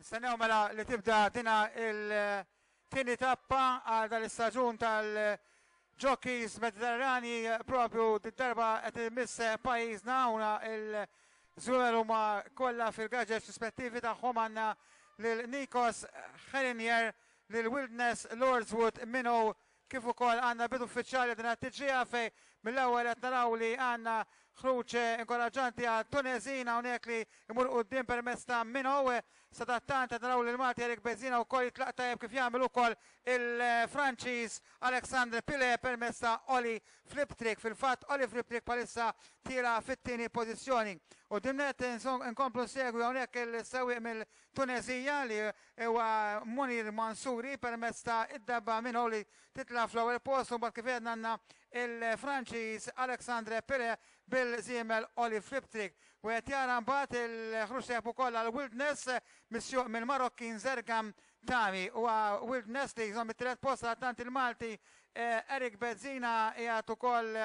Nistennew mela li tibda dina il-tieni tappa għal dal-istaġun tal-Jockeys Mediterrani propju d-darba qed imiss pajjiżna una il-żwiemel huma kollha fil-gaġeġ rispettivi tagħhom għandna lil Nikos Herinier, lil Wildness Lordswood Minnow Kif ukoll għandna bidu uffiċjali din it-tiġrija fejn mill-ewwel qed naraw li għandna ħruġ inkoraġġanti għal Tuneżin hawnhekk li jmur quddiem permezz ta' Minow. Sadattant qed naraw lil Malti Eric Bezzina wkoll jitlaq tajjeb kif jagħmel ukoll il-Franċiż Alexandre Pile permezz ta' Oli Fliptrick. Fil-fatt Oli Fliptrick bħalissa tiela' fit-tieni pożizzjoni. Quddiem nett inkomplu nsegwi hawnhekk il-sewwieq mill-Tuneżija li Huwa Munir Mansouri permezz ta' id-debba minn li titla' fl-ewwel post u mbagħad kif għedna għandna il-Franċiż Alexandre Pire bil-żiemel Oli Fliptrick. Wieħed jara mbagħad il-ħruġ tajjeb ukoll għal Wildness misjuq mill-Marokkin Zergam Tami. Huwa Wildness li jżomm it-tielet post għal tant il-Malti Eric Bezzina qiegħed ukoll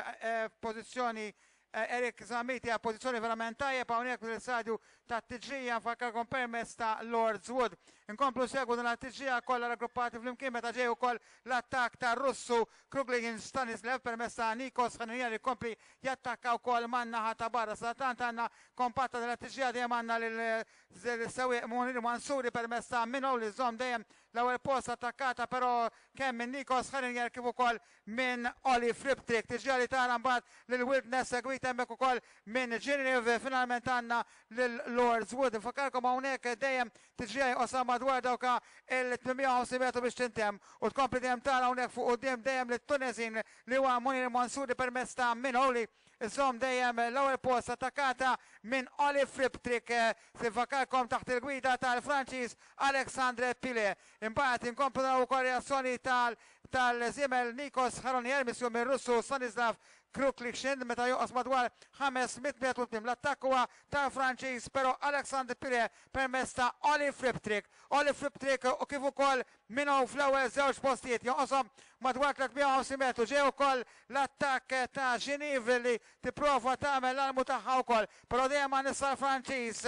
f'pożizzjoni Eric Zammit hija pożizzjoni verament tajjeb hawnhekk fl-istadju tat-tiġrija nfakkarkom permezz ta' Lords Wood. Inkomplu nsegwu din it-tiġrija kollha raggruppati flimkien meta ġej ukoll l-attakk tar-Russu Kruglin Stanislav permezz ta' Nikos Ħanija li jkompli jattakka wkoll man-naħa ta' barra. Sadattant għandna kompatta din it-tiġrija dejjem għandna lil-sewwieq Munir Mansouri permezz ta' Minow li żomm dejjem l-ewwel post attakkata però kemm minn Nikos Ħanija kif ukoll minn Oli Fliptrick. Tiġrija li tara mbagħad lil Wildness segwita hemmhekk ukoll minn Ginniv. Finalment għandna lil Lords Wood. Nfakkarkom hawnhekk dejjem tiġrija jqosha madwar dawk il-850 metru biex tintemm u tkompli dejjem tara hawnhekk fuq quddiem dejjem lit-Tuneżin li huwa Munir Mansouri permezz ta' Minoli Iżomm dejjem l-ewwel post attakkata minn Oli Fliptrick. Nfakkarkom taħt il-gwida tal-Franċiż Alexandre Pile. Imbagħad inkomplu naraw ukoll reazzjoni tal tal-żiemel Nikos Haronier misjum mir-Russu Stanislav Kruklikshin meta jonqos madwar 500 metru tmiem l-attakk huwa tal-Franċiż però Alexandre Pire permezz ta' Oli Fliptrick. Oli Fliptrick u kif ukoll Minow fl-ewwel żewġ postijiet jonqoshom madwar 350 metru. Ġej ukoll l-attakk ta' Geneve li tipprova tagħmel l-almu tagħha wkoll però dejjem għan issa l-Franċiż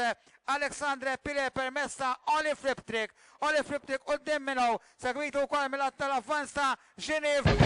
Alexandre Pire permezz ta' Oli Fliptrick. Oli Fliptrick quddiem Minow Segwitu wkoll mill-att tal-avvanz ta' Genève.